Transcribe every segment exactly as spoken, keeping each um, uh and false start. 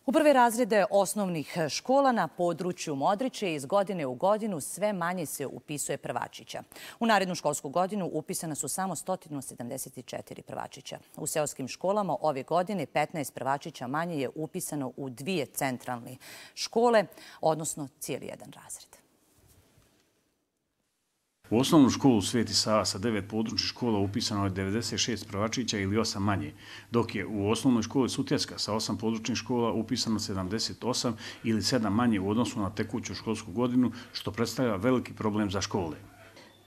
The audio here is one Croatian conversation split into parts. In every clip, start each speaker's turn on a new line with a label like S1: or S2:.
S1: U prve razrede osnovnih škola na području Modriče iz godine u godinu sve manje se upisuje prvačića. U narednu školsku godinu upisana su samo sto sedamdeset četiri prvačića. U seoskim školama ove godine petnaest prvačića manje je upisano u dvije centralne škole, odnosno cijeli jedan razred.
S2: U osnovnu školu Sveti Sava sa devet područnih škola upisano je devedeset šest prvačića ili osam manje, dok je u osnovnoj školi Sutjeska sa osam područnih škola upisano sedamdeset osam ili sedam manje u odnosu na tekuću školsku godinu, što predstavlja veliki problem za škole.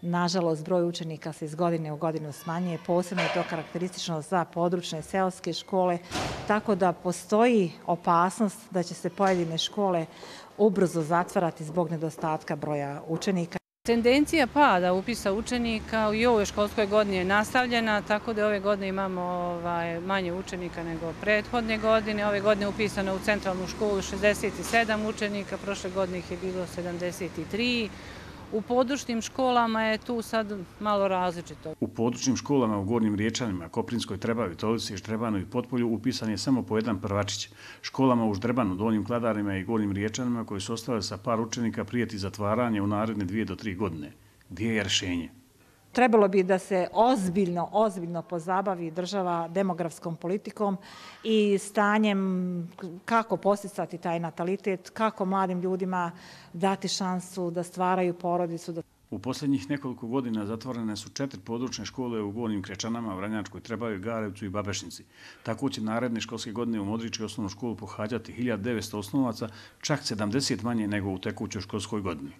S3: Nažalost, broj učenika se iz godine u godinu smanjuje, posebno je to karakteristično za područne seoske škole, tako da postoji opasnost da će se pojedine škole ubrzo zatvarati zbog nedostatka broja učenika.
S4: Tendencija pada upisa učenika i u ovoj školskoj godini je nastavljena, tako da ove godine imamo ovaj, manje učenika nego prethodne godine. Ove godine je upisano u centralnu školu šezdeset sedam učenika, prošle godine ih je bilo sedamdeset tri. U područnim školama je tu sad malo različito.
S2: U područnim školama u Gornjim Riječanima, Koprinskoj Trebavi, Tolici, Štrebanu i Potpolju upisan je samo po jedan prvačić. Školama u Ždrebanu, Donjim Kladarima i Gornjim Riječanima koji su ostale sa par učenika prijeti zatvaranje u naredne dvije do tri godine. Gdje je rješenje?
S3: Trebalo bi da se ozbiljno, ozbiljno pozabavi država demografskom politikom i stanjem kako posticati taj natalitet, kako mladim ljudima dati šansu da stvaraju porodicu.
S2: U posljednjih nekoliko godina zatvorene su četiri područne škole u Gornjim Krečanama, Vranjačkoj Trebavi, Garevcu i Babešnici. Tako će naredne školske godine u Modriči osnovnu školu pohađati hiljadu devetsto osnovaca, čak sedamdeset manje nego u tekućoj školskoj godini.